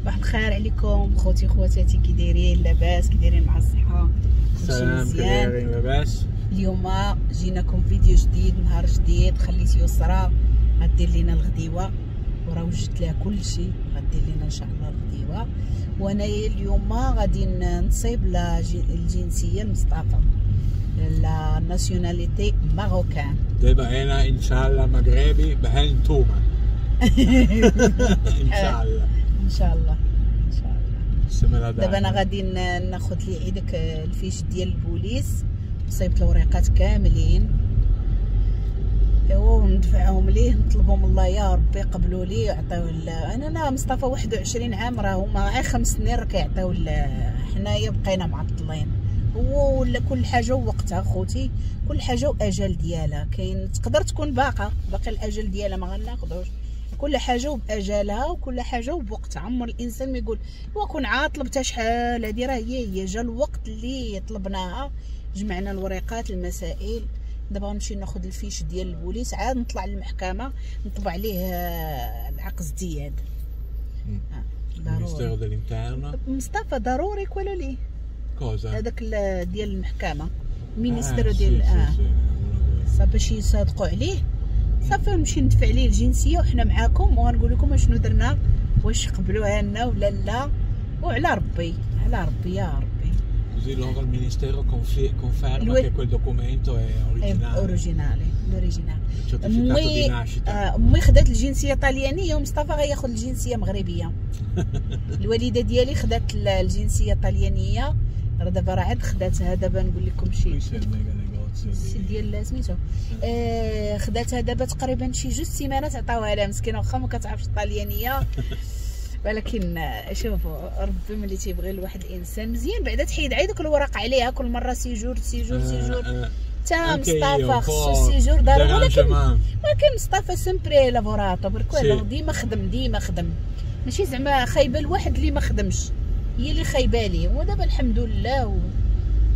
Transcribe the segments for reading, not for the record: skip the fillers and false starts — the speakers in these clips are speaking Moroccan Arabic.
صباح الخير عليكم خوتي خواتاتي، كي دايرين؟ لاباس؟ كي دايرين مع الصحة؟ كلشي مزيان؟ لاباس. اليوم جيناكم فيديو جديد، نهار جديد. خليت يسرى غدير لينا الغديوه وراه وجدت لها كلشي، غدير لينا ان شاء الله الغديوه. وانايا اليوم غادي نصيب الجنسية لمصطفى، la nationalité marocaine. دابا انا ان شاء الله مغربي بحال نتوما. ان شاء الله ان شاء الله ان شاء الله. دابا انا غادي ناخذ لي عيدك ال fiche ديال البوليس، صيبت الوريقات كاملين وندفعهم ليه، نطلبهم الله يا ربي قبلوا لي يعطيو. انا مصطفى 21 عام، راه هما غير 5 سنين راه كيعطيو. حنايا بقينا معطلين، هو ولا كل حاجة ووقتها خوتي، كل حاجة واجل ديالها. كاين تقدر تكون باقي الاجل ديالها ما غناخذوش، كل حاجة وباجالها وكل حاجة وبوقتها. عمر الانسان ما يقول وكون عاطلبتها شحال هادي، راه هي جا الوقت اللي طلبناها، جمعنا الوريقات المسائل. دابا غنمشي ناخذ ال fiche ديال البوليس، عاد نطلع للمحكمة نطبع عليه العقد ازدياد. ضروري مصطفى، ضروري quello lì هذاك ديال المحكمة، ministero ديال صافي باش يصادقوا عليه. صافي نمشي ندفع ليه الجنسية وحنا معاكم وغنقول لكم اشنو درنا، واش قبلوها لنا ولا لا. وعلى ربي، على ربي يا ربي. Così loro il ministero conferma che quel documento è originale. Originale, l'originale. Certificato di nascita. امي خدات الجنسية الطليانيه ومصطفى غياخذ الجنسية مغربية. الوالدة ديالي خدات الجنسية الطليانيه، راه دابا راه عاد خداتها. دابا نقول لكم شي ديال سميتو، خداتها دابا تقريبا شي 2 سيمانات عطاوها لها مسكينه، واخا ما كتعرفش الطليانيه. ولكن شوفوا ربي ملي تيبغي لواحد الانسان مزيان، بعدا تحيد عيدك الورق عليها كل مرة séjour séjour séjour. تا مصطفى خصو séjour ضروري، ولكن مصطفى sempre lavorato per quello ديما خدم، ديما خدم، ماشي زعما خايبة الواحد اللي ما خدمش، هي اللي خايبة ليه. ودابا الحمد لله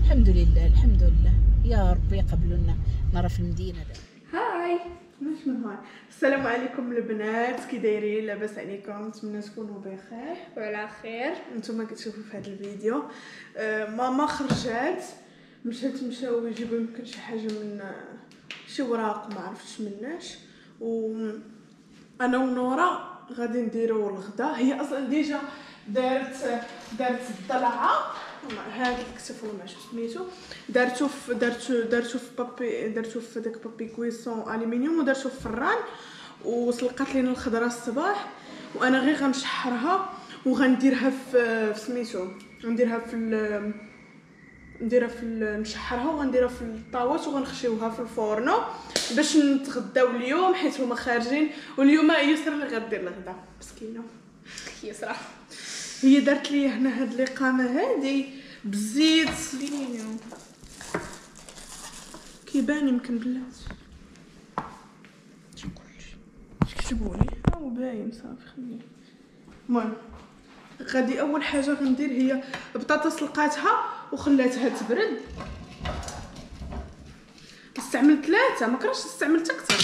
الحمد لله الحمد لله يا ربي يقبلوا لنا. نرى في المدينة دابا. هاي مش من هاي. السلام عليكم البنات، كي دايرين؟ لاباس عليكم؟ نتمنى تكونوا بخير وعلى خير. نتوما كتشوفوا في هذا الفيديو ماما خرجات، مشاو يجيبوا يمكن شي حاجة من شي وراق ما عرفتش مناش، و انا ونورا غادي نديروا الغدا. هي اصلا déjà دارت الضلعه، هذا الكتف ولا ما عرفتش سميتو، دارتو في دارتو في papier، دارتو في داك papier cuisson aluminium، ودارتو في الفران، وسلقات لينا الخضرة الصباح. وانا غير غنشحرها وغنديرها في سميتو، غنديرها في نديرها في نشحرها وغنديرها في الطاوات وغنخشيوها في الفورنو باش نتغداو اليوم، حيت هما خارجين. واليوم يسرا اللي غدير الغدا مسكينه. يسرا هي دارت لي هنا هاد الاقامة هادي بالزيت كيبان يمكن بلاتي اش كتبوا لي، ها هو باين صافي خليه. المهم غادي اول حاجة غندير هي بطاطا سلقاتها وخلاتها تبرد. استعملت 3، ما كرهتش استعملت اكثر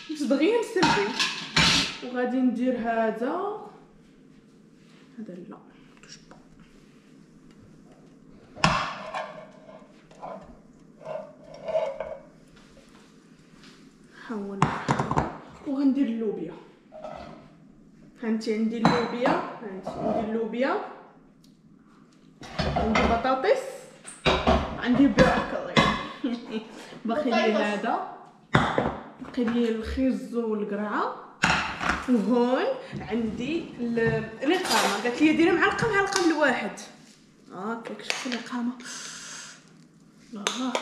باش دغيا نسربي. وغادي ندير هذا لا حاول. وغندير اللوبيا. هانتي عندي اللوبيا، هانتي عندي اللوبيا، عندي بطاطس، عندي بروكلي، باقي لي هذا، باقي لي الخيز والقرعه. وهون عندي الاقامة، قالت لي ديري معلقه معلقه من الواحد. هاكاك شفتي الاقامة. الله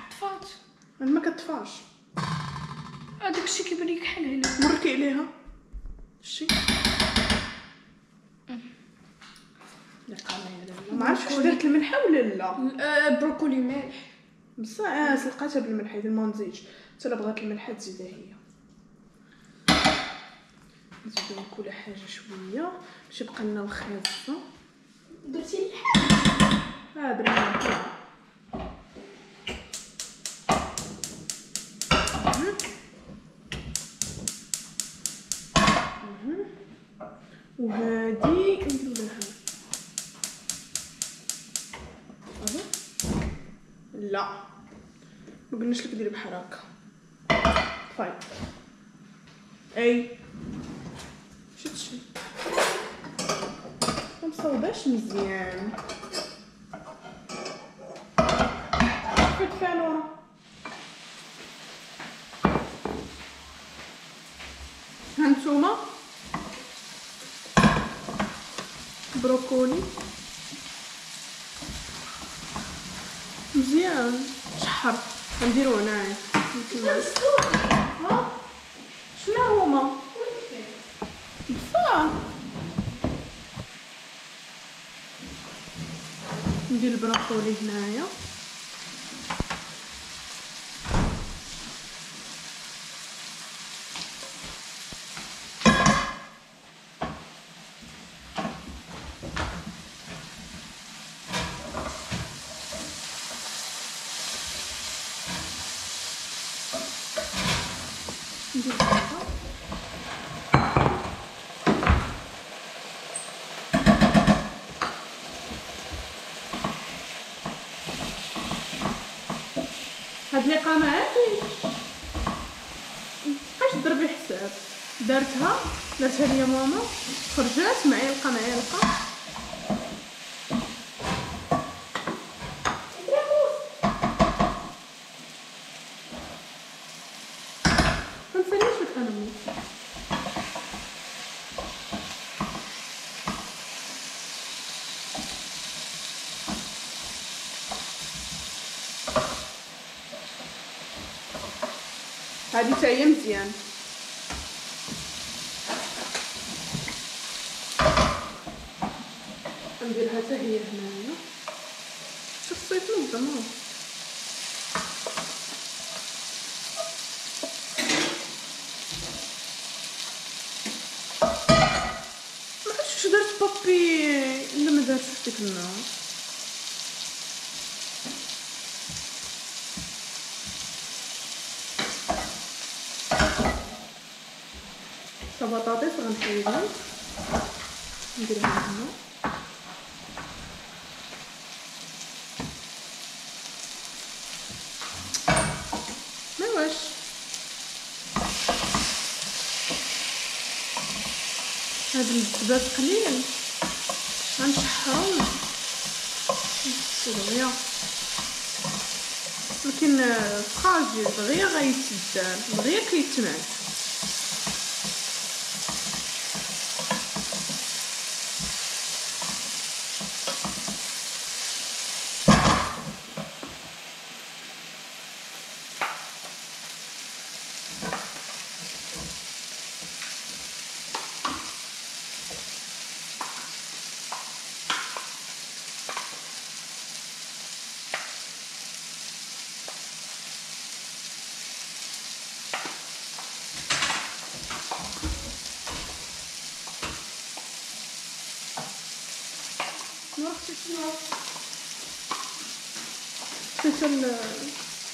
طفات، ما كطفاش هذاك الشيء كيبان لك كحل هنا، مركي عليها شتي ما عرفتش واش درت الملحة ولا لا. بروكولي مالح بصح سلقاتها بالملح، اذا ما نزيدش حتى لا بغات الملحة تزيدها هي. نزيدو كل حاجة شوية باش يبقى لنا الخيط. درتي اللحم؟ درنا اللحم. وهادي نديرو لها لا ما قلناش لك ديري بحال هكا. طيب اي شتي ما مصوباش مزيان. فين فانوره هانتوما بروكولي مزيان شحر غنديرو هنايا. ها شنو هما بصح؟ ندير البروكولي هنايا. هاد ليقامه هادي متبقاش ضربي حساب. دارتها ليا ماما، خرجات معلقه معلقه. منساليش لك انا موس. هادي حتى هي مزيان. نديرها حتى هي هنايا. شوف الصيف نظم. ما عرفتش واش درت بابي لا ما دارتش في ديك النهار. بطاطس غنحيدها نديرها هنا. ما واش هاد الزباد قليل غنشحرو دغيا، ولكن فراجيل دغيا غيتدار دغيا كيتمعت.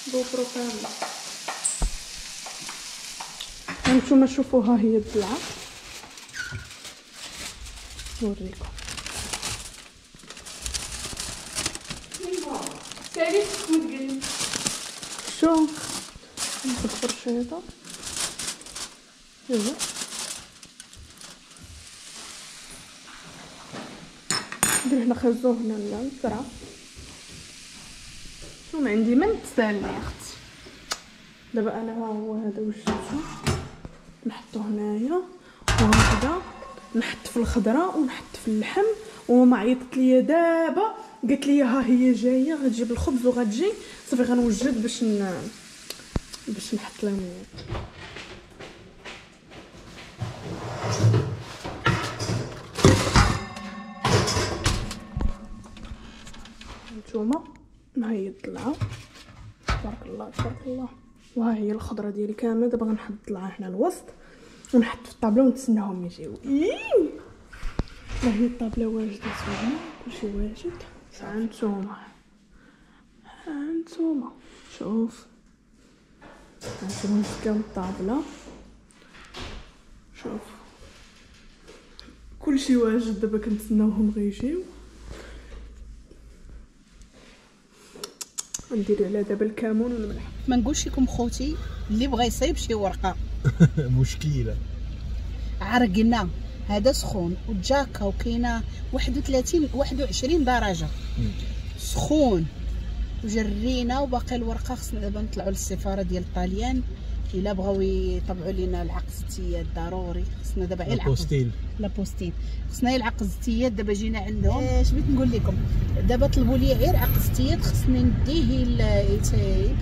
الجوبرو كامل. هانتوما شوفوها هي الضلعه، نوريكم. شو ناخذ فرشيطه. ايوا ندير هنا خزو هنا الزرعه. شو ما عندي ما نتسالني يا اختي. دابا انا ها هو هذا وجدته، نحطو هنايا وهكذا نحط في الخضرة ونحط في اللحم. وماما عيطت ليا دابا قالت لي ها هي جاية غتجيب الخبز وغتجي صافي غنوجد باش نحط لهم. نتوما ها هي الضلعه تبارك الله تبارك الله، وها هي الخضرة ديالي كاملة. دابا غنحط الضلعه هنا الوسط ونحط في الطابله ونتسناهم يجيو. ها هي الطابله واجدة زوينة، كلشي واجد. هانتوما هانتوما شوف، هانتوما نتكاو الطابله، شوف كلشي واجد. دابا كنتسناوهم غيجيو، نديرو على دابا الكمون والملح. ما نقولش لكم خوتي اللي بغى يصيب شي ورقة مشكلة، عرقنا هذا سخون والجاكا وكاينه 31 21 درجه سخون، وجرينا وباقي الورقة. خصنا دابا نطلعوا للسفاره ديال الطاليان الا بغاو يطبعوا لينا العقد الزتيات ضروري. خصنا دابا غير l'apostille، l'apostille خصنا غير العقد الزتيات. دابا جينا عندهم، اش بغيت نقول لكم، دابا طلبوا لي غير عقد الزتيات خصني نديه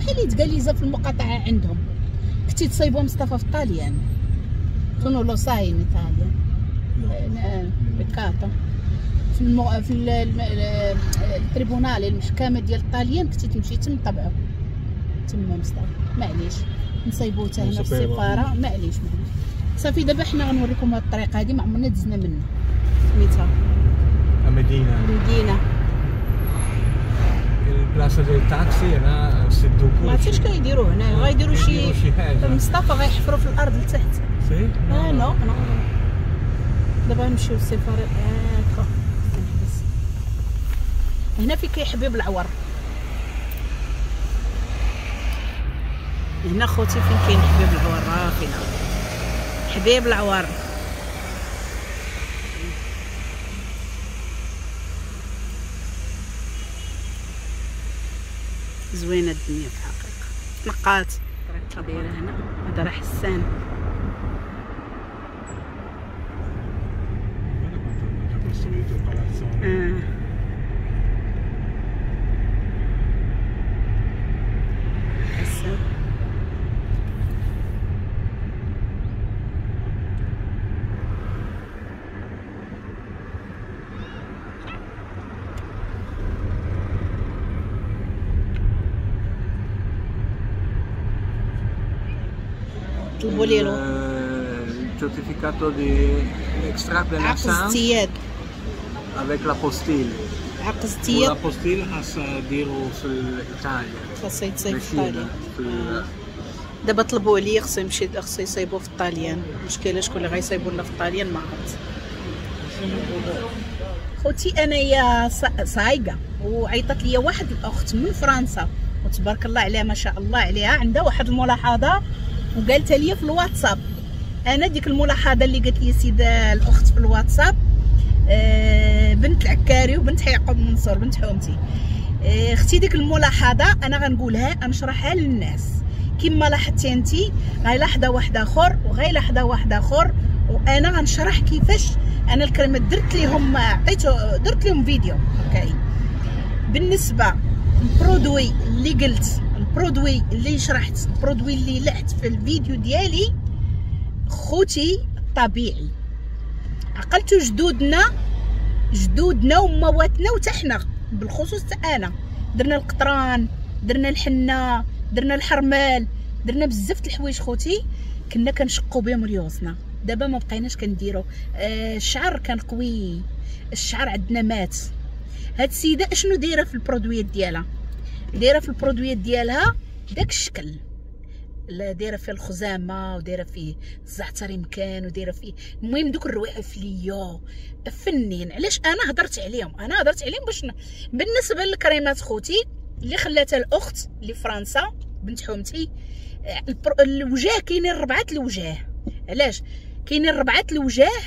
بحال يتكاليزا في المقاطعة عندهم. كنتي تصايبوا مصطفى في الطاليان، tu non lo sai in Italia peccato في في ال tribunale المحكمة ديال الطاليان كنتي تمشي تم طبعو تما مصطفى. معليش نصايبوه حتى هنا في السفارة، معليش معليش صافي. دابا حنا غنوريكم هاد الطريقة هادي ما عمرنا دزنا منها، سميتها مدينة مدينة ال plaza ديال التاكسي هنا سدو كلشي. ما عرفتش كيديروا هنا، غيديروا شي حاجة مصطفى، غيحفروا في الارض لتحت. si non non دابا نمشيو للسفاره. هاكا نحبس هنا في كيحبيب العور. هنا خوتي فين كاين حبيب العور، راه فينا حبيب العور. زوينة الدنيا في الحقيقة، تنقات الطريقة دايرة هنا. هذا راه حسان. حسان طلبوا لي ال certificato di extrait de عقد ازدياد avec l'apostille. عقد ازدياد l'apostille خاصها ديرو في ايطاليا، خاصها يتصايب في ايطاليا. دابا طلبوا لي خصو يمشي، خصو يصايبوه في الطاليان. المشكلة شكون اللي غيصايبوا لنا في الطاليان ما عرفت. خوتي انايا صايقه، وعيطت لي واحد الاخت من فرنسا وتبارك الله عليها ما شاء الله عليها، عندها واحد الملاحظة وقالتها لي في الواتساب. انا ديك الملاحظة اللي قالت لي سيده الاخت في الواتساب، بنت العكاري وبنت يعقوب منصور بنت حومتي، اختي ديك الملاحظة انا غنقولها نشرحها للناس كما لاحظتي انت، غيلاحظها واحد اخر وغيلاحظها واحد اخر، وانا غنشرح كيفاش انا الكلمة درت لهم، عطيته درت لهم فيديو. OK بالنسبة لل produit اللي قلت، ال produit اللي شرحت، ال produit اللي لحت في الفيديو ديالي خوتي الطبيعي، عقلتو جدودنا جدودنا ومواتنا وتا حنا بالخصوص تا انا درنا القطران، درنا الحنة، درنا الحرمال، درنا بزاف د الحوايج خوتي كنا كنشقوا بهم ريوسنا. دابا ما بقيناش كنديرو. الشعر كان قوي، الشعر عندنا مات. هاد السيدة اشنو دايرة في ال produit ديالها؟ دايرة في ال produit ديالها داك الشكل، لا دايرة فيه الخزامه ودايره فيه الزعتر يمكن ودايره فيه المهم دوك الروائح فليو فنين. علاش انا هضرت عليهم؟ انا هضرت عليهم باش بالنسبة للكريمات خوتي اللي خلاتها الاخت اللي فرنسا بنت حومتي، الوجاه كاينين ربعه الوجاه. علاش كاينين ربعه الوجاه؟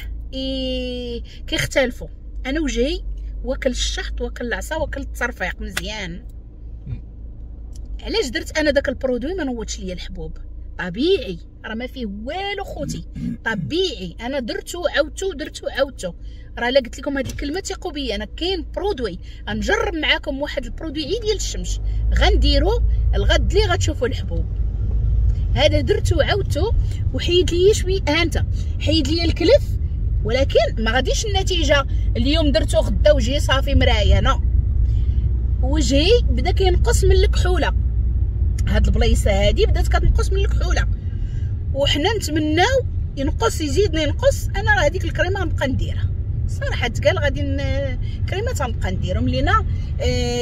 كيختلفوا. انا وجهي واكل الشحط واكل العصا واكل التصرفيق مزيان. علاش درت انا داك ال produit؟ ما نوضش ليا الحبوب، طبيعي راه ما فيه والو خوتي، طبيعي. انا درتو عاودتو درتو عاودتو، راه الا قلت لكم هذه الكلمة ثقوا بيا. انا كاين produit غنجرب معاكم واحد ال produit عيد ديال الشمس غنديرو الغد اللي غتشوفوا الحبوب. هذا درتو عاودتو وحيد لي شوية، ها انت حيد لي الكلف، ولكن ما غاديش النتيجة اليوم درتو غدا وجهي صافي مراية. non، وجهي بدا كينقص من الكحوله، هاد البليصه هادي بدات كتنقص من الكحوله، وحنا نتمناو ينقص يزيدنا ينقص. انا راه هذيك الكريمة غنبقى نديرها صراحة تقال غادي كريمات غنبقى نديرهم لينا.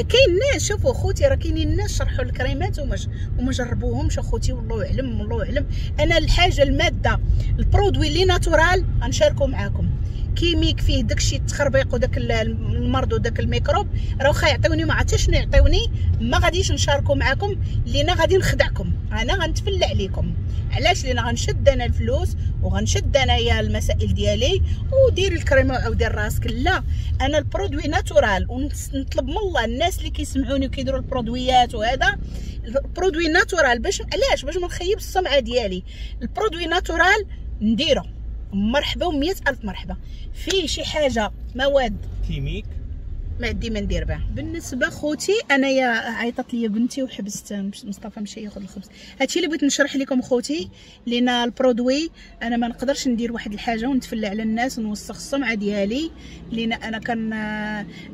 كاين ناس، شوفوا خوتي راه كاينين ناس شرحوا الكريمات وما جربوهمش اخوتي، والله اعلم والله اعلم. انا الحاجة المادة ال produit اللي naturel غنشاركو معاكم، chimique فيه داكشي التخربيق وداك المرض وداك الميكروب، راه واخا يعطيوني ما عرفتش شنو يعطيوني ما غاديش نشاركو معاكم، لينا غادي نخدعكم، انا غنتفلى عليكم. علاش؟ لان غنشد انا الفلوس وغنشد انايا المسائل ديالي ودير الكريمة وعاودير راسك. لا، انا ال produit naturel، ونطلب من الله الناس اللي كيسمعوني وكيديروا البرودويات وهذا ال produit naturel، باش علاش؟ باش ما نخيبش السمعة ديالي. ال produit naturel نديرو مرحبا ومية الف مرحبا. فيه شي حاجة مواد chimiques ما عندي ما ندير بها. بالنسبة خوتي انايا عيطت لي بنتي وحبست مصطفى مشى ياخذ الخبز. هادشي اللي بغيت نشرح لكم خوتي، لان ال produit انا ما نقدرش ندير واحد الحاجة ونتفلى على الناس ونوسخ السمعة ديالي. لان انا كان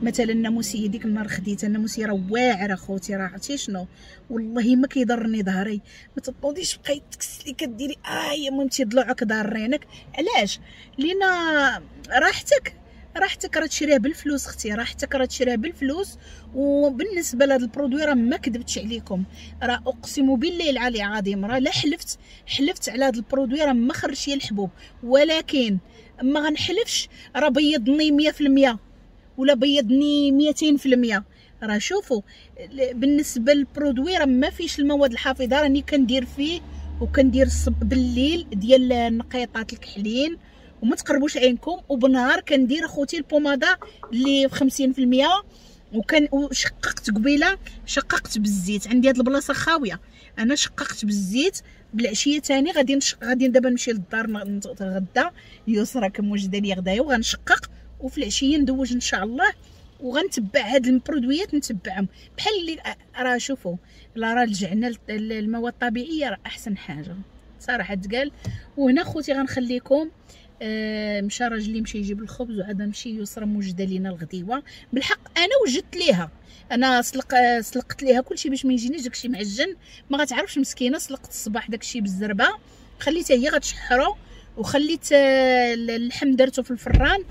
مثلا الناموسيه ديك النهار خديتها، الناموسيه راه واعرة خوتي، راه عرفتي شنو، والله ما كيضرني ظهري. ما تطوديش بقاي تكسلي كديري يا مامتي ضلوعك ضارينك. علاش؟ لان راحتك راه تشريها بالفلوس اختي، راحتك راه تشريها بالفلوس. وبالنسبة لهذا ال produit راه ما كذبتش عليكم، راه اقسم بالله العلي العظيم راه لا حلفت على هذا ال produit راه ما خرجش لي الحبوب، ولكن ما غنحلفش راه بيضني 100% ولا بيضني 200%. راه شوفوا بالنسبة لل produit راه ما فيش المواد الحافظة، راني كندير فيه وكندير بالليل ديال النقيطات الكحلين وما تقربوش عينكم، وبنهار كندير اخوتي البوماده اللي في 50%. وكان وشققت قبيلة، شققت بالزيت، عندي هاد البلاصة خاوية انا شققت بالزيت. بالعشيه ثاني غادي دابا نمشي للدار نتغدى، يسرا كموجده لي غدايا وغنشقق، وفي العشية ندوج ان شاء الله وغنتبع هاد البرودويات نتبعهم بحال اللي راه شوفوا لا راه رجعنا للمواد الطبيعية راه احسن حاجة صراحة تقال. وهنا خوتي غنخليكم، مشى راجلي مشى يجيب الخبز وعاد مشي يسرا موجده لينا الغديوه. بالحق انا وجدت ليها، انا سلقت ليها كلشي باش ما يجينيش داكشي معجن، ما غتعرفش مسكينه. سلقت الصباح داكشي بالزربه، خليتها هي غتشحرو، وخليت اللحم درته في الفران،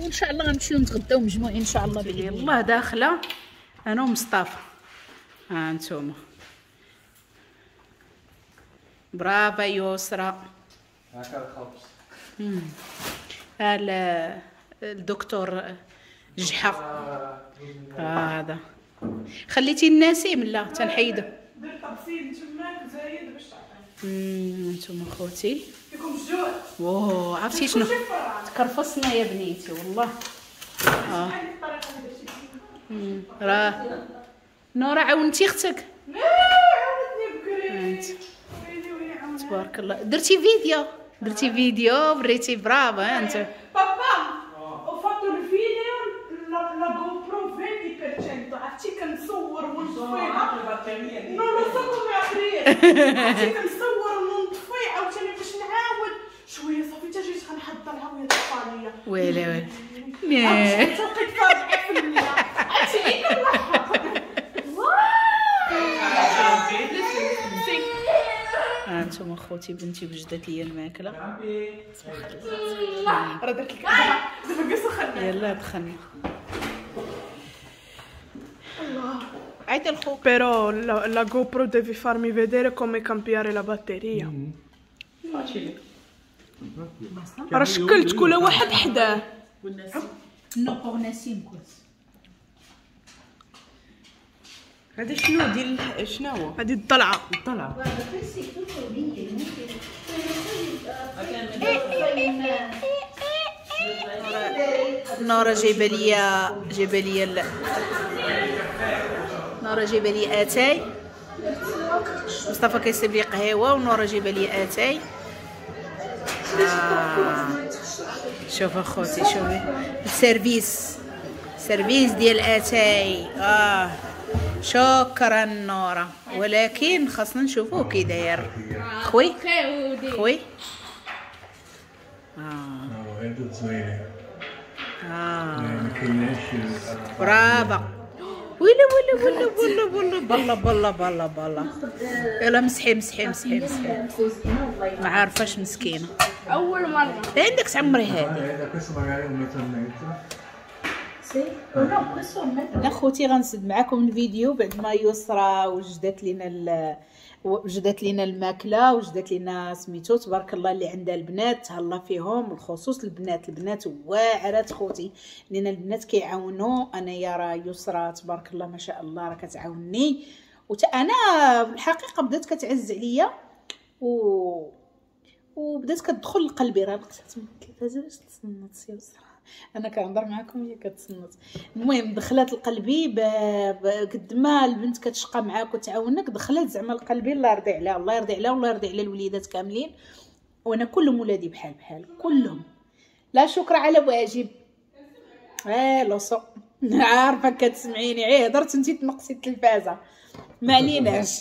وان شاء الله غنمشيو نتغداو مجموعين ان شاء الله باذن الله. داخله انا ومصطفى، ها انتم برافو يسرا. هاكا الخبز الدكتور جحا هذا خليتي النسيم لا تنحيدو، درت تبسيل تماك زايد باش تعطيني. انتم خوتي فيكم الجوع، واو عرفتي شنو تكرفصنا يا بنيتي والله. راه نورا عاونتي اختك؟ لا عاونتني بكري، تبارك الله. درتي فيديو، درتي فيديو بريتي، برافو انت. بابا ho fatto il video la GoPro 20% عرفتي كنصور ونطفيها، non lo so come aprire، عرفتي كنصور ونطفي عاوتاني باش نعاود شوية صافي حتى جيت غنحضرها وهي طفى ليا. ويلي ويلي لقيت 4%، عرفتي غير كنلحق. هانتوما خوتي بنتي وجدت لي الماكلة. راه درت لك دابا جلسوا خلنا، يلا دخلنا. الله عيط لخوك. Però la GoPro devi farmi vedere come cambiare la batteria. Facile. راه شكلت كل واحد حداه. no pour نسيم كويس. هذا شنو ديال شنو هو؟ هذه الضلعه. الضلعه. نورا جايبه لي نورا جايبه لي اتاي، مصطفى كيصيب لي قهوة، ونورا جايبه لي اتاي. شوف اخوتي، شوفي ال service، service ديال اتاي. شكرا نورا، ولكن خاصنا نشوفوه كي داير. خوي خوي برافو. ويلي ويلي ويلي ويلي ويلي بلا بلا بلا بلا. يلا مسحي مسحي مسحي مسحي، ما عارفاش مسكينه. اول مرة عندك تعمري هذه. Questo magari un metro e mezzo. انا خوتي غنسد معكم الفيديو بعد ما يسرى وجدت لنا الماكلة، وجدت لنا سميتو تبارك الله اللي عندها البنات تهلا فيهم، بالخصوص البنات، البنات واعرات خوتي، لان البنات كيعاونوا. انا يا راه يسرى تبارك الله ما شاء الله راه كتعاونني، وتا انا الحقيقة بدات كتعز عليا وبدات كتدخل لقلبي. راه لقيتها من التلفازه باش تصنت يا يسرى، انا كنهضر معكم هي كتصنت. المهم دخلت لقلبي قد ما البنت كتشقى معاك وتعاونك، دخلت زعما لقلبي. الله يرضي عليها، الله يرضي عليها، والله يرضي على الوليدات كاملين. وانا كلهم ولادي بحال بحال كلهم، لا شكر على واجب. Lo so عارفه كتسمعيني، عي هضرت انت تنقصي التلفازه، ما عليناش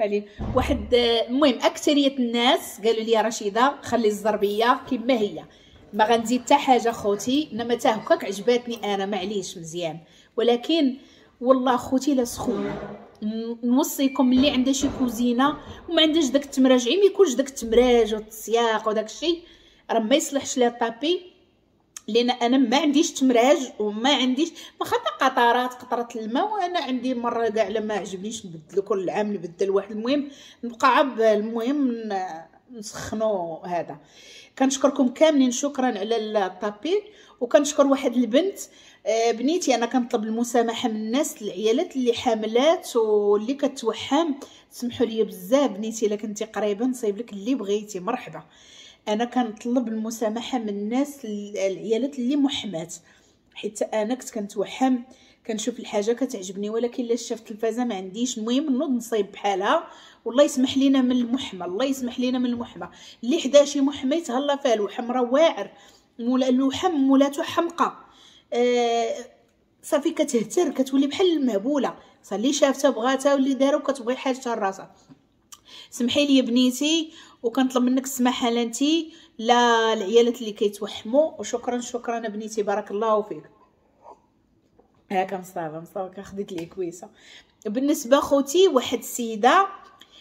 علينا. واحد المهم اكثرية الناس قالوا لي رشيده خلي الزربيه كما هي، ما غنزيد حتى حاجة خوتي، انما تا هكاك عجباتني انا معليش مزيان. ولكن والله خوتي لا سخون، نوصيكم اللي عنده شي كوزينه وما عندهاش داك التمراج، ما يكونش داك التمراج والتسياق وداك الشيء، راه ما يصلحش لها tapis. لان انا ما عنديش تمراج وما عنديش واخا قطرات قطرة الماء، وانا عندي مرة كاع لما عجبنيش نبدلو كل عام نبدل واحد. المهم نبقى عب، المهم نسخنو هذا. كنشكركم كاملين، شكرا على ال tapis. وكنشكر واحد البنت بنيتي، انا كنطلب المسامحة من الناس العيالات اللي حاملات واللي كتوحم، سمحوا لي بزاف بنيتي الا كنتي قريبه نصايب لك اللي بغيتي مرحبا. انا كنطلب المسامحة من الناس العيالات اللي محمات، حيت انا كنت كنتوحم كنشوف الحاجة كتعجبني، ولكن الا شفت التلفازه ما عنديش. المهم نوض نصايب بحالها، والله يسمح لينا من المحمى، الله يسمح لينا من المحمى. اللي حدا شي محمى يتهلا فيها، الوحم راه واعر، الوحم مولاتو حمقى، صافي كتهتر كتولي بحال المهبوله، صافي اللي شافتها بغاتها واللي دارو كتبغي حاجتها لراسها. سمحي لي بنيتي، وكنطلب منك السماحة لا انتي لا العيالات اللي كيتوحموا. وشكرا شكرا بنيتي، بارك الله فيك. هاكا مصطفى كخديت لي كويسة. بالنسبة خوتي واحد السيدة،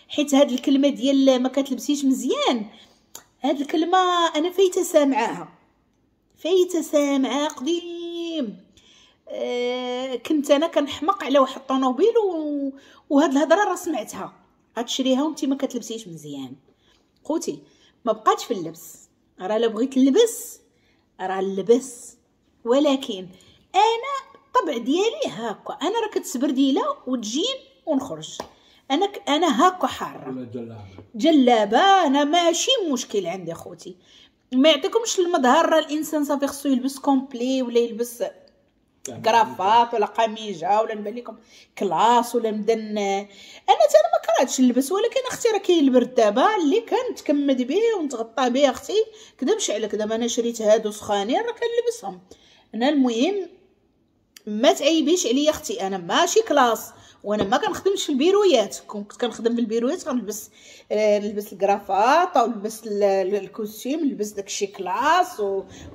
حيت هاد الكلمة ديال ما كتلبسيش مزيان، هاد الكلمة انا فايته سامعاها، فايته سامعاها قديم. كنت انا كنحمق على واحد الطوموبيل وهاد الهضرة راه سمعتها، غتشريها وانت ما كتلبسيش مزيان. خوتي ما بقاتش في اللبس، راه لا بغيت نلبس راه نلبس، ولكن انا الطبع ديالي هاكا، انا راه كتسبرديله وتجين ونخرج، انا هاكا حارة جلابه، انا ماشي مشكل عندي خوتي. ما يعطيكمش المظهر، راه الانسان صافي خصو يلبس complet ولا يلبس كرافات ولا قميجه ولا نبان لكم classe ولا مدن. انا تا انا ما كرهتش نلبس، ولكن اختي راه كاين البرد دابا اللي كنتكمد به ونتغطى به اختي، كذبش عليك. دابا انا شريت هادو سخانين راه كنلبسهم انا. المهم ما تعيبيش عليا اختي، انا ماشي classe وانا ما كنخدمش في البيرويات. كنت كنخدم في البيرويات غنلبس نلبس الكرافات او نلبس ال costume، نلبس داكشي classe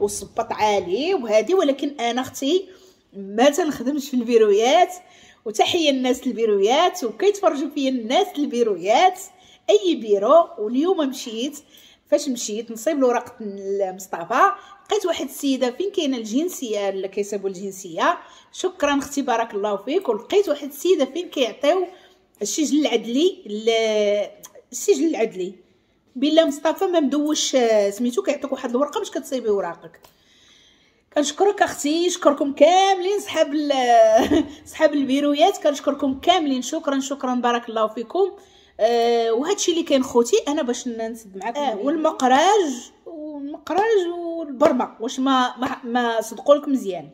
وصباط عالي وهادي، ولكن انا اختي ما تنخدمش في البيرويات. وتحية الناس البيرويات، وكيتفرجوا فيا الناس البيرويات اي بيرو. واليوم مشيت، فاش مشيت نصيب الوراق لمصطفى، لقيت واحد السيدة فين كاينه الجنسية اللي كيصيبوا الجنسية، شكرا اختي بارك الله فيك. ولقيت واحد السيدة فين كيعطيو السجل العدلي، السجل العدلي بلا مصطفى ما مدوش سميتو، كيعطيك واحد الورقة باش كتصيبي وراقك. كنشكرك اختي، شكركم كاملين صحاب صحاب البيرويات، كنشكركم كاملين، شكرا شكرا بارك الله فيكم. وهادشي اللي كاين خوتي انا باش نسد معاكم. والمقراج والمقراج والبرمه، واش ما صدقوا لك مزيان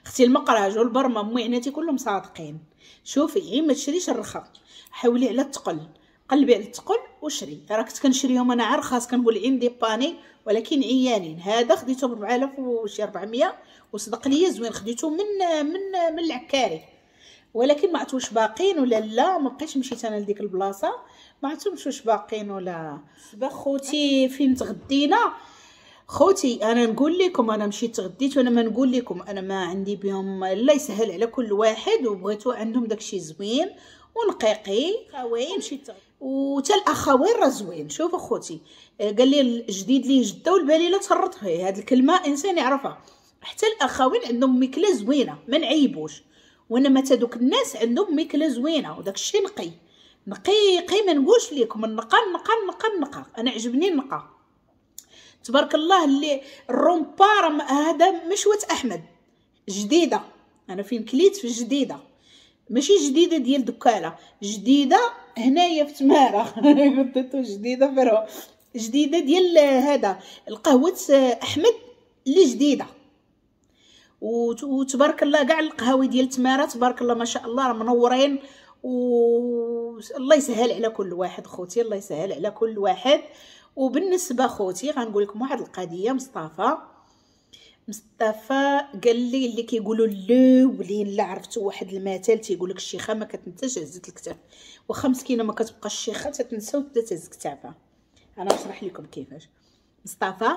اختي؟ المقراج والبرمه موعناتي كلهم صادقين. شوفي غير ما تشريش الرخا، حاولي على الثقل، قلبي على الثقل وشري. راه كنت كنشريهم انا عا رخاص، كنقول عندي باني، ولكن عيانين. هذا خديته ب 4000 وشي 400 وصدق ليا زوين، خديته من من من العكاري، ولكن ما عرفت واش باقين ولا لا. ما بقيتش مشيت انا لديك البلاصة، ما عرفتش واش باقين ولا. خوتي فين تغدينا خوتي؟ انا نقول لكم انا مشيت تغديت، وانا ما نقول لكم انا ما عندي بهم، الله يسهل على كل واحد، وبغيتو عندهم داكشي زوين ونقيقي خوين مشيت. وتا الاخوين راه زوين. شوف اخوتي قال لي الجديد لي جده والبليله تهرط فيه، هاد الكلمة انسان يعرفها. حتى الاخوين عندهم ماكله زوينة ما نعيبوش، وانما تا دوك الناس عندهم ماكله زوينة وداك الشيء نقي نقيقي، ما نقولش لكم النقا النقا النقا النقا، انا عجبني النقا تبارك الله. اللي الرومبا هذا مشوه احمد جديدة، انا فين كليت في جديدة، ماشي جديدة ديال دكاله، جديدة هنايا في تماره قلت جديدة فرو جديدة ديال هذا القهوة احمد اللي جديدة. وتبارك الله كاع القهاوي ديال تماره تبارك الله ما شاء الله راه منورين، والله يسهل على كل واحد خوتي، الله يسهل على كل واحد. وبالنسبة خوتي غنقول لكم واحد القضية، مصطفى قال لي اللي كيقولوا الاولين لا عرفتوا واحد المثل تيقول لك الشيخه ما كتنساش هزت الكتاف، واخا مسكينه ما كتبقاش الشيخه تتنسى وتبدا تهز كتافها. انا نشرح لكم كيفاش. مصطفى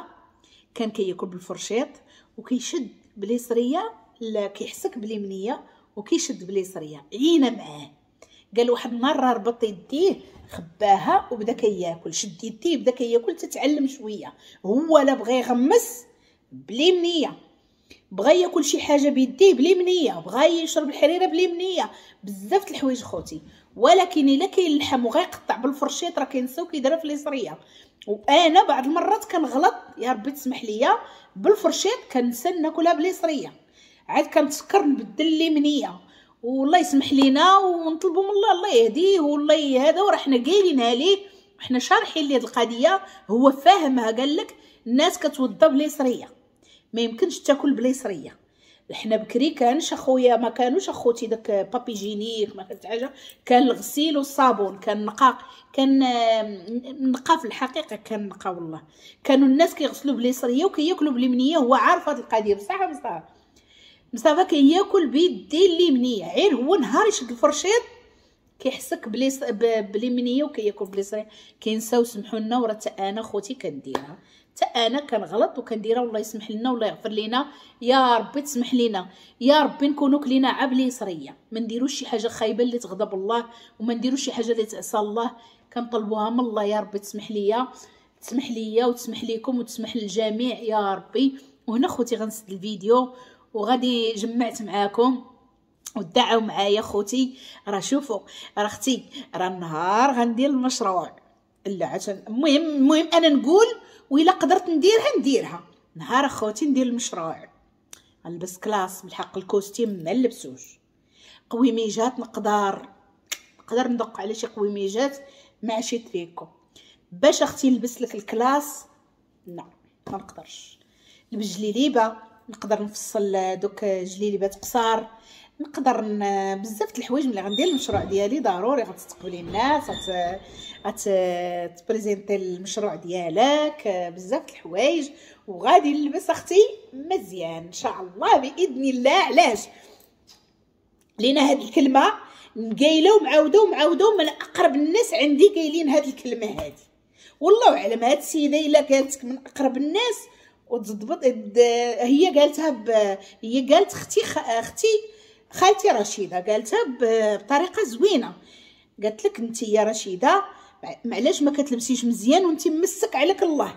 كان كياكل بالفرشيط وكيشد باليسريه، لا كيحسك باليمنيه وكيشد باليسريه، عينا معاه. قال واحد المرة ربط يديه خباها وبدا كياكل، شد يديه بدا كياكل، تتعلم شوية. هو لا بغى يغمس باليمنيه، بغى ياكل شي حاجة بيديه باليمنيه، بغى يشرب الحريره باليمنيه، بزاف د الحوايج خوتي. ولكن الا كاين اللحم وغيقطع بالفرشيط راه كينساو كيديرها في اليسريه. وانا بعض المرات كنغلط يا ربي تسمح ليا، بالفرشيط كنسى ناكلها باليسريه، عاد كنتفكر نبدل اليمنية. والله يسمح لينا ونطلبوا من الله الله يهديه والله هذا، وراه حنا قايلينها ليه وحنا شارحين ليه هاد القضية، هو فاهمها. قال لك الناس كتوضى باليسريه، ما يمكنش تاكل باليسريه. حنا بكري كانش اخويا، ما كانوش اخوتي داك papier hygiénique، ما كانت حاجة، كان الغسيل والصابون، كان نقا، كان نقا في الحقيقة، كان نقا والله. كانوا الناس كيغسلوا باليسريه وكياكلوا باليمنيه، هو عارف هاد القضية بصح. مصطفى كياكل بيديه اليمنية، غير هو نهار يشد الفرشيط كيحسك باليمنيه وكياكل باليسريه، كينساو. سمحوا لنا، وراه حتى انا خوتي كنديرها، حتى انا كنغلط وكنديرها، والله يسمح لنا والله يغفر لينا يا ربي، تسمح لينا يا ربي، نكونوا كلينا عا باليسريه، ما نديروش شي حاجة خايبة اللي تغضب الله، وما نديروش شي حاجة اللي تعصى الله، كنطلبوها من الله يا ربي تسمح ليا، تسمح ليا وتسمح ليكم وتسمح للجميع يا ربي. وهنا خوتي غنسد الفيديو وغادي جمعت معاكم ودعوا معايا خوتي. راه شوفوا راه اختي راه النهار غندير المشروع، لا عشان المهم انا نقول وإلا قدرت نديرها نديرها. نهار اخوتي ندير المشروع، غنلبس classe بالحق ال costume ما نلبسوش، قويميجات نقدر ندق على شي قويميجات مع شي تريكو باش اختي نلبس لك ال classe، لا ما نقدرش. نلبس جليليبه، نقدر نفصل دوك جليليبات قصار، نقدر بزاف د الحوايج. ملي غندير المشروع ديالي ضروري غتستقبلي الناس، غت présenter المشروع ديالك، بزاف د الحوايج. وغادي نلبس اختي مزيان ان شاء الله باذن الله. علاش؟ لينا هاد الكلمة قايله ومعاوده ومعاوده، من اقرب الناس عندي قايلين هاد الكلمة هادي، والله اعلم. هاد السيدة الا قالتك من اقرب الناس وتضبط، هي قالتها هي قالت اختي خالتي رشيده قالتها بطريقة زوينة، قالت لك انت يا رشيده معلاش ما كتلبسيش مزيان وانت مسك عليك الله.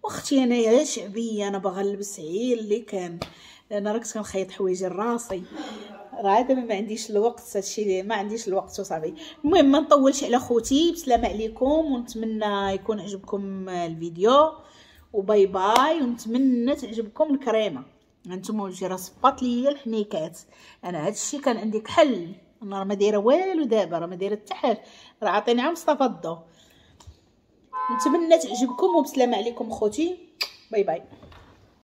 واختي انا يا شعبية، انا باغا نلبس عيل اللي كان، انا راه كنت كنخيط حوايجي لراسي، راه دابا ما عنديش الوقت، هادشي ما عنديش الوقت وصافي. المهم ما نطولش على خوتي، بسلامه عليكم، ونتمنى يكون عجبكم الفيديو، و bye bye، ونتمنى تعجبكم الكريمة. هانتوما وجهي راه صباط ليا الحنيكات، انا هادشي كان عندي كحل، انا راه ما دايرة والو دابا، راه ما دايرة حتى حاجة، راه عاطيني عا مصطفى الضو. نتمنى تعجبكم وبسلامه عليكم خوتي، bye bye.